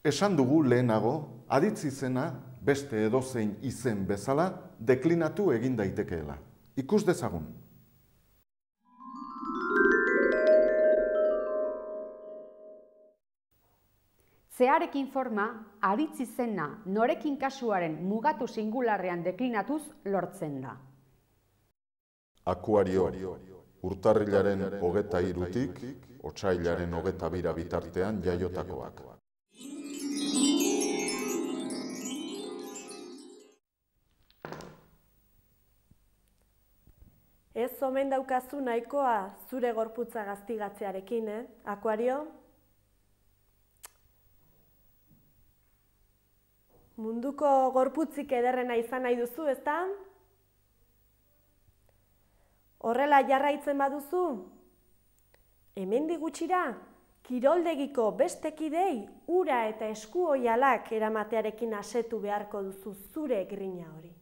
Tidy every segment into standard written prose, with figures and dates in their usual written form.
Esan dugu lehenago, aditz izena beste edozein izen bezala deklinatu egin daitekeela. Ikus dezagun. Zearekin forma, aditz izena norekin kasuaren mugatu singularrean deklinatuz lortzen da. Akuario, urtarrilaren 23tik otsailaren 22 bitartean jaiotakoak. Ez omen daukazu nahikoa zure gorputza gaztigatzearekin, Akuario? Munduko gorputzik ederrena izan nahi duzu, ezta? Horrela jarraitzen baduzu? Hemendik gutxira, kiroldegiko beste kidei ura eta esku oihalak eramatearekin asetu beharko duzu zure grina hori.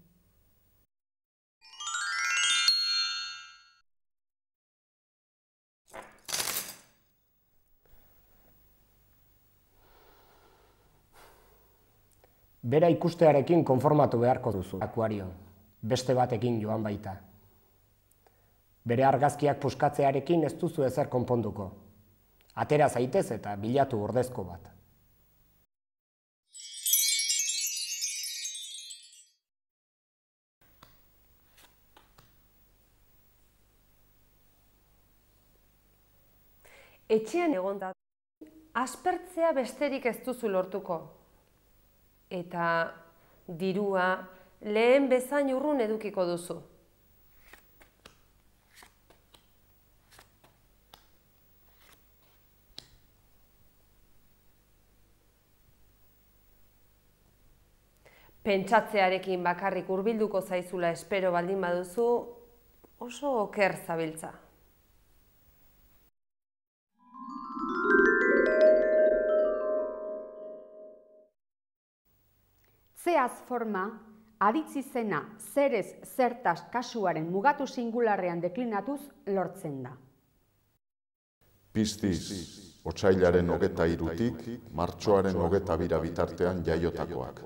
Bera ikustearekin konformatu beharko duzu, Akuario. Beste batekin joan baita. Bere argazkiak puskatzearekin ez duzu ezer konponduko. Atera zaitez eta bilatu ordezko bat. Etxean egonda, aspertzea besterik ez duzu lortuko. Eta dirua lehen bezain urrun edukiko duzu. Pentsatzearekin bakarrik hurbilduko zaizula espero baldin baduzu, oso oker zabiltza. Zeaz forma, aditz izena zerez zertaz kasuaren mugatu singularrean deklinatuz lortzen da. Piztiz, otsailaren 23tik martxoaren 22 bitartean jaiotakoak.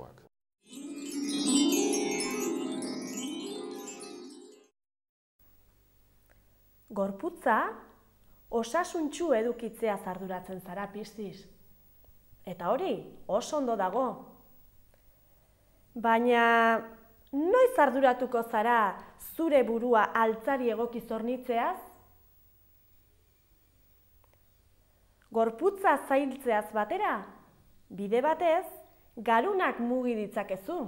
Gorputza, osasuntsu edukitzeaz arduratzen zara, Piztiz. Eta hori, oso ondo dago. Baina, noiz arduratuko zara zure burua altzari egoki zornitzeaz? Gorputza zailtzeaz batera, bide batez, garunak mugi ditzakezu.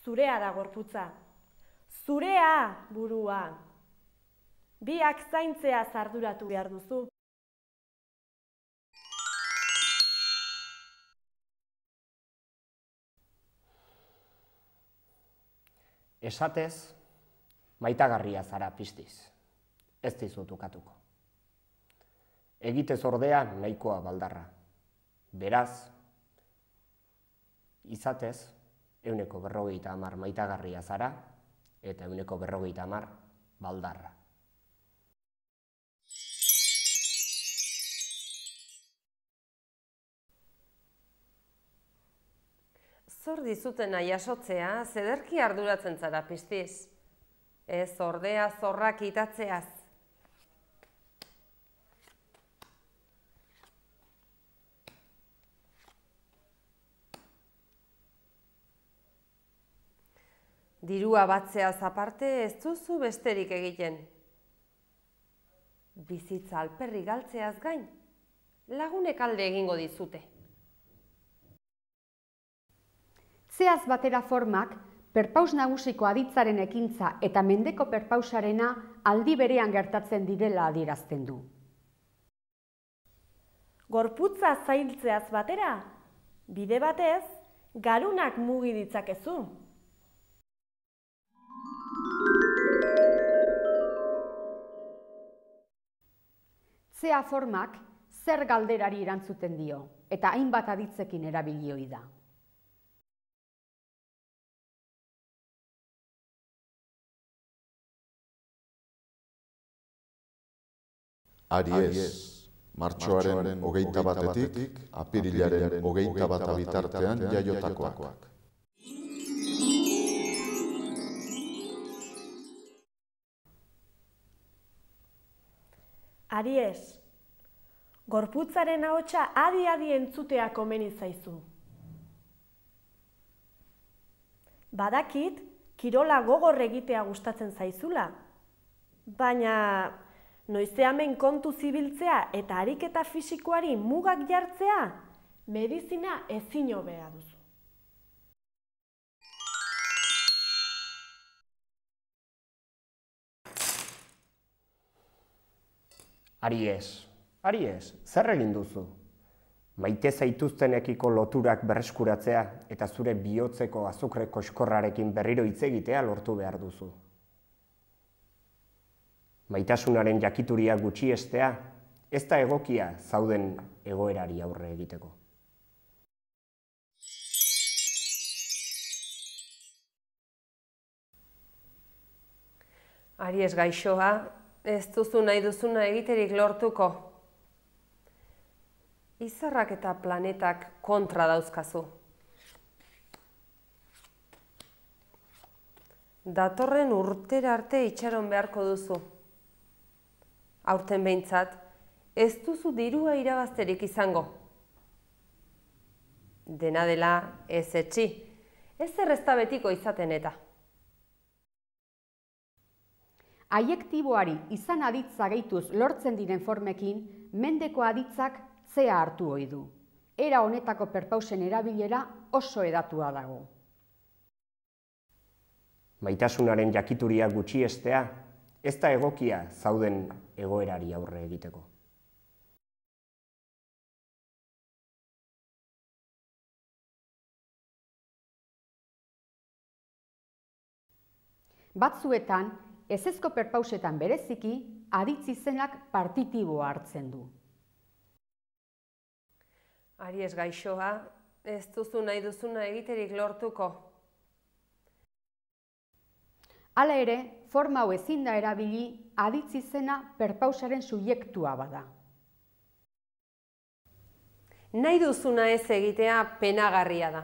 Zurea da gorputza. Zurea burua. Biak zaintzeaz arduratu behar duzu. Esatez, maitagarria zara, Piztiz. Ez dizut ukatuko. Egitez ordea nahikoa baldarra. Beraz, izatez, 150 maitagarria zara eta 150 baldarra. Zor dizutena jasotzea, zederki arduratzen zara, Piztiz. Ez ordea zorrak itatzeaz. Dirua batzeaz aparte ez duzu besterik egiten. Bizitza alperri galtzeaz gain, lagunek alde egingo dizute. Zeaz batera formak, perpaus nagusiko aditzaren ekintza eta mendeko perpausarena aldi berean gertatzen direla adierazten du. Gorputza zailtzeaz batera, bide batez, garunak mugi ditzakezu. Zea formak zer galderari erantzuten dio, eta hainbat aditzekin erabilioi da. Aries, Martxoaren 21-etik apirilaren 21 bitartean jaiotakoak. Aries, gorputzaren ahotsa adi-adi entzutea komeni zaizu. Badakit, kirola gogor egitea gustatzen zaizula, baina noizeamen kontu zibiltzea eta ariketa fisikoari mugak jartzea, medizina ezin hobea duzu. Aries, zer egin duzu? Maite zaituztenekiko loturak berreskuratzea eta zure bihotzeko azukre koxkorrarekin berriro hitz egitea lortu behar duzu. Maitasunaren jakituria gutxiestea, ez da egokia zauden egoerari aurre egiteko. Aries gaixoa, ez duzu nahi duzuna egiterik lortuko. Izarrak eta planetak kontra dauzkazu. Datorren urtera arte itxaron beharko duzu. Aurten behintzat, ez duzu dirua irabazterik izango. Dena dela ez etxi, ez errezta betiko izaten eta. Aiektiboari izan aditza gehituz lortzen diren formekin, mendeko aditzak zea hartu ohi du. Era honetako perpausen erabilera oso hedatua dago. Maitasunaren jakituria gutxiestea, ez da egokia zauden egoerari aurre egiteko. Batzuetan, ezezko perpausetan bereziki, aditz izenak partitiboa hartzen du. Aries gaixoa, ez duzu nahi duzuna egiterik lortuko. Hala ere, forma hau ezin da erabili aditz izena perpausaren subjektua bada. Nahi duzuna ez egitea penagarria da.